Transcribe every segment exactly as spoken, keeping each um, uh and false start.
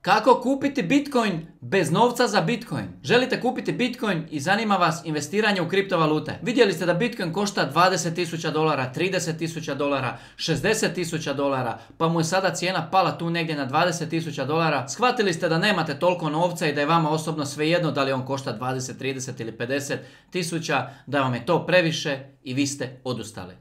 Kako kupiti Bitcoin bez novca za Bitcoin? Želite kupiti Bitcoin i zanima vas investiranje u kriptovalute? Vidjeli ste da Bitcoin košta dvadeset tisuća dolara, trideset tisuća dolara, šezdeset tisuća dolara, pa mu je sada cijena pala tu negdje na dvadeset tisuća dolara. Shvatili ste da nemate toliko novca i da je vama osobno svejedno da li on košta dvadeset, trideset ili pedeset tisuća, da vam je to previše i vi ste odustali.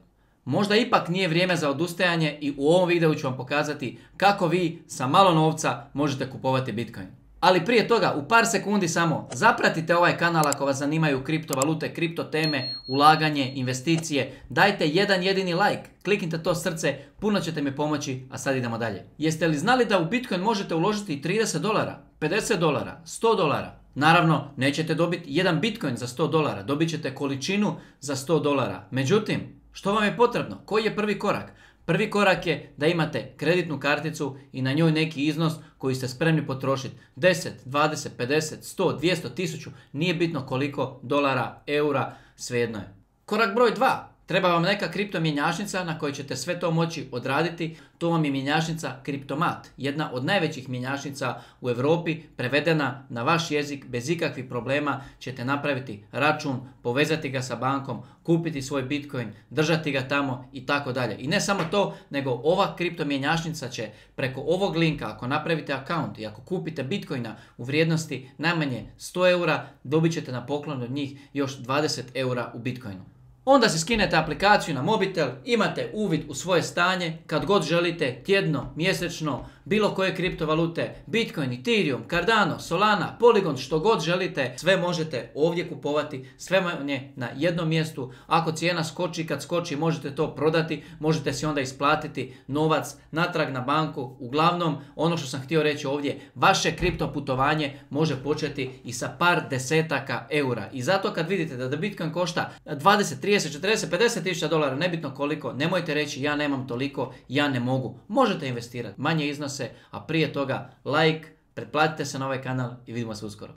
Možda ipak nije vrijeme za odustajanje i u ovom videu ću vam pokazati kako vi sa malo novca možete kupovati Bitcoin. Ali prije toga, u par sekundi samo, zapratite ovaj kanal ako vas zanimaju kriptovalute, kripto teme, ulaganje, investicije. Dajte jedan jedini like, kliknite to srce, puno ćete mi pomoći, a sad idemo dalje. Jeste li znali da u Bitcoin možete uložiti trideset dolara, pedeset dolara, sto dolara? Naravno, nećete dobiti jedan Bitcoin za sto dolara, dobit ćete količinu za sto dolara. Međutim, što vam je potrebno? Koji je prvi korak? Prvi korak je da imate kreditnu karticu i na njoj neki iznos koji ste spremni potrošiti. deset, dvadeset, pedeset, sto, dvjesto, tisuću, nije bitno koliko dolara, eura, svejedno je. Korak broj dva. Treba vam neka kripto mjenjačnica na kojoj ćete sve to moći odraditi. To vam je mjenjačnica Kriptomat, jedna od najvećih mjenjačnica u Europi, prevedena na vaš jezik bez ikakvih problema. Ćete napraviti račun, povezati ga sa bankom, kupiti svoj Bitcoin, držati ga tamo i tako dalje. I ne samo to, nego ova kripto mjenjačnica će preko ovog linka, ako napravite account i ako kupite Bitcoina u vrijednosti najmanje sto eura, dobit ćete na poklon od njih još dvadeset eura u Bitcoinu. Onda si skinete aplikaciju na mobitel, imate uvid u svoje stanje, kad god želite, tjedno, mjesečno, bilo koje kriptovalute, Bitcoin, Ethereum, Cardano, Solana, Polygon, što god želite, sve možete ovdje kupovati, sve vam je na jednom mjestu. Ako cijena skoči, kad skoči, možete to prodati, možete si onda isplatiti novac natrag na banku. Uglavnom, ono što sam htio reći ovdje, vaše kripto putovanje može početi i sa par desetaka eura. I zato kad vidite da Bitcoin košta dvadeset, trideset, četrdeset, pedeset tisuća dolara, nebitno koliko, nemojte reći ja nemam toliko, ja ne mogu. Možete investirati manje iznose, a prije toga like, pretplatite se na ovaj kanal i vidimo se uskoro.